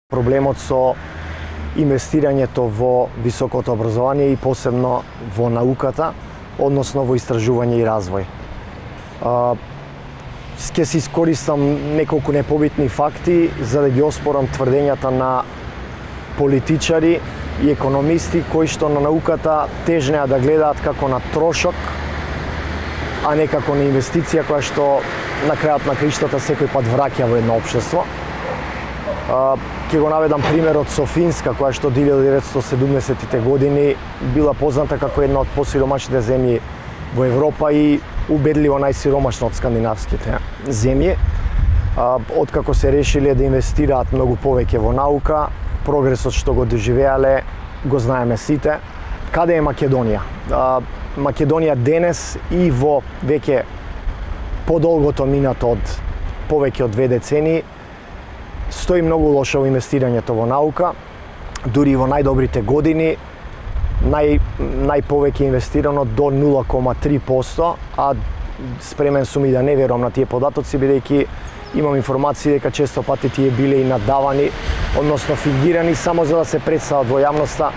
Проблемот со инвестирањето во високото образование и посебно во науката, односно во истражување и развој. Ќе се искористам неколку непобитни факти за да ги оспорам тврдењата на политичари и економисти кои што на науката тежнеа да гледаат како на трошок, а не како на инвестиција која што на крајот на краиштата секој пат враќа во едно општество. Ќе го наведам примерот со Финска, која што 1970-тите години била позната како една од посиромашните земји во Европа и убедливо најсиромашна од скандинавските земји. Откако се решиле да инвестираат многу повеќе во наука, прогресот што го доживеале го знаеме сите. Каде е Македонија? Македонија денес и во веќе подолгото минато од повеќе од 2 децении стои многу лошо во инвестирањето во наука, дури и во најдобрите години најповеќе инвестирано до 0,3%, а спремен сум и да не верувам на тие податоци, бидејќи имам информации дека често пати тие биле и надавани, односно фингирани само за да се представат во јавноста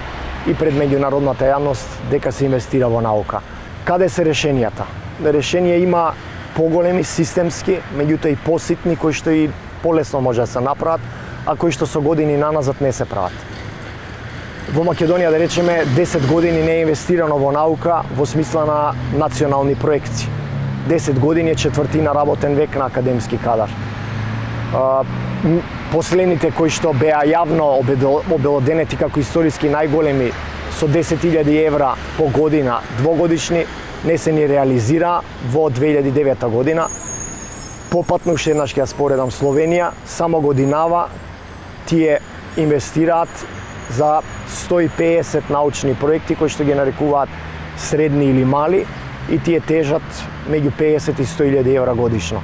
и пред меѓународната јавност дека се инвестира во наука. Каде се решенијата? Решенија има поголеми, системски, меѓутоа и поситни, кои што и полесно може да се направат, а кои што со години наназад не се прават. Во Македонија, да речеме, 10 години не е инвестирано во наука во смисла на национални проекти. 10 години е четвртина работен век на академски кадар. Последните кои што беа јавно обелоденети како историски најголеми со 10.000 евра по година, двогодишни, не се ни реализира во 2009 година. Попатно уште еднаш ќе ја споредам Словенија, само годинава тие инвестираат за 150 научни проекти кои што ги нарекуваат средни или мали и тие тежат меѓу 50 и 100.000 евра годишно.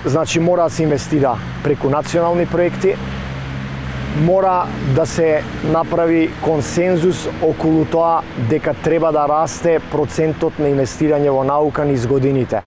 Значи мора да се инвестира преку национални проекти, мора да се направи консензус околу тоа дека треба да расте процентот на инвестирање во наука низ годините.